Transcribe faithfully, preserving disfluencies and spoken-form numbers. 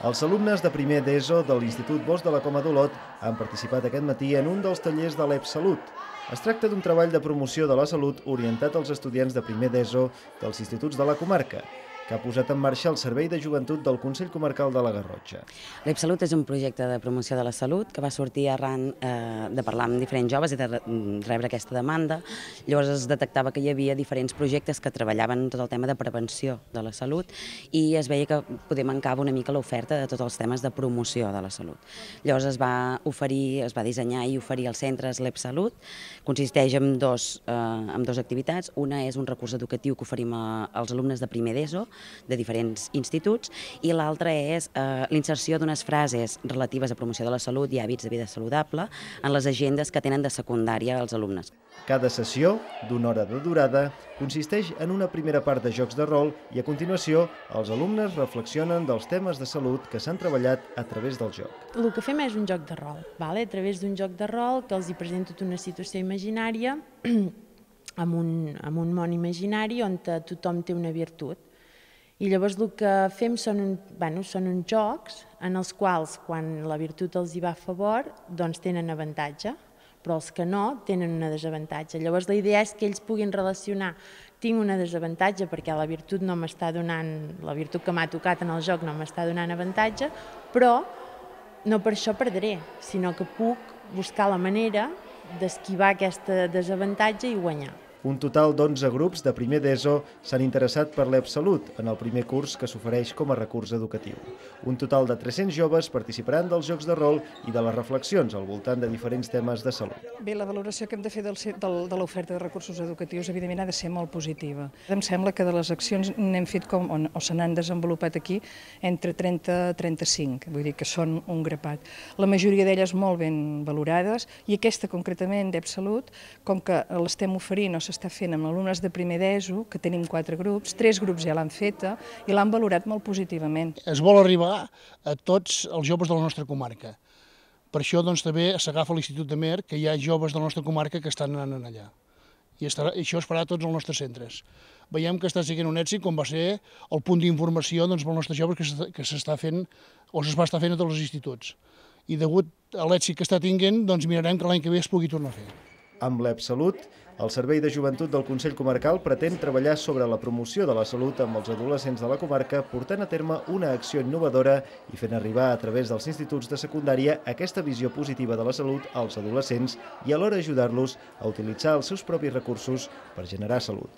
Els alumnes de primer d'ESO de l'Institut Bosch de la Coma d'Olot han participat aquest matí en un dels tallers de l'E P Salut. Es tracta d'un treball de promoció de la salut orientat als estudiants de primer d'ESO dels instituts de la comarca, que ha posat en marxa el Servei de Joventut del Consell Comarcal de la Garrotxa. L'E P Salut és un projecte de promoció de la salut que va sortir arran eh, de parlar amb diferents joves i de rebre aquesta demanda. Llavors es detectava que hi havia diferents projectes que treballaven tot el tema de prevenció de la salut i es veia que poder mancava una mica l'oferta de tots els temes de promoció de la salut. Llavors es va oferir, es va dissenyar i oferir als centres l'E P Salut. Consisteix en dos, eh, en dos activitats. Una és un recurs educatiu que oferim a, als alumnes de primer d'ESO de diferents instituts i l'altra és eh, l'inserció d'unes frases relatives a promoció de la salut i hàbits de vida saludable en les agendes que tenen de secundària els alumnes. Cada sessió, d'una hora de durada, consisteix en una primera part de jocs de rol i a continuació els alumnes reflexionen dels temes de salut que s'han treballat a través del joc. El que fem és un joc de rol, vale? A través d'un joc de rol que els hi presento una situació imaginària amb un, amb un món imaginari on tothom té una virtut. I llavors el que fem són, un, bueno, són uns jocs en els quals, quan la virtut els hi va a favor, doncs tenen avantatge, però els que no tenen una desavantatge. Llavors la idea és que ells puguin relacionar, tinc una desavantatge perquè la virtut no m'està donant, la virtut que m'ha tocat en el joc no m'està donant avantatge, però no per això perdré, sinó que puc buscar la manera d'esquivar aquesta desavantatge i guanyar. Un total d'onze grups de primer d'ESO s'han interessat per l'E P Salut en el primer curs que s'ofereix com a recurs educatiu. Un total de tres-cents joves participaran dels jocs de rol i de les reflexions al voltant de diferents temes de salut. Bé, la valoració que hem de fer del, del, de l'oferta de recursos educatius evidentment ha de ser molt positiva. Em sembla que de les accions n'hem fet com, o se n'han desenvolupat aquí entre trenta a trenta-cinc, vull dir que són un grapat. La majoria d'elles molt ben valorades i aquesta concretament d'E P Salut, com que l'estem oferint o s'està fent amb alumnes de primer d'ESO, que tenim quatre grups, tres grups ja l'han feta i l'han valorat molt positivament. Es vol arribar a tots els joves de la nostra comarca. Per això doncs, també s'agafa l'Institut de Mer, que hi ha joves de la nostra comarca que estan anant allà. I estarà, això es farà a tots els nostres centres. Veiem que està sent un èxit, com va ser el punt d'informació doncs, pels nostres joves que s'està fent o es va estar fent a tots els instituts. I degut a l'èxit que està tinguent, doncs mirarem que l'any que ve es pugui tornar a fer. Amb l'E P Salut, el Servei de Joventut del Consell Comarcal pretén treballar sobre la promoció de la salut amb els adolescents de la comarca, portant a terme una acció innovadora i fent arribar a través dels instituts de secundària aquesta visió positiva de la salut als adolescents i alhora ajudar-los a utilitzar els seus propis recursos per generar salut.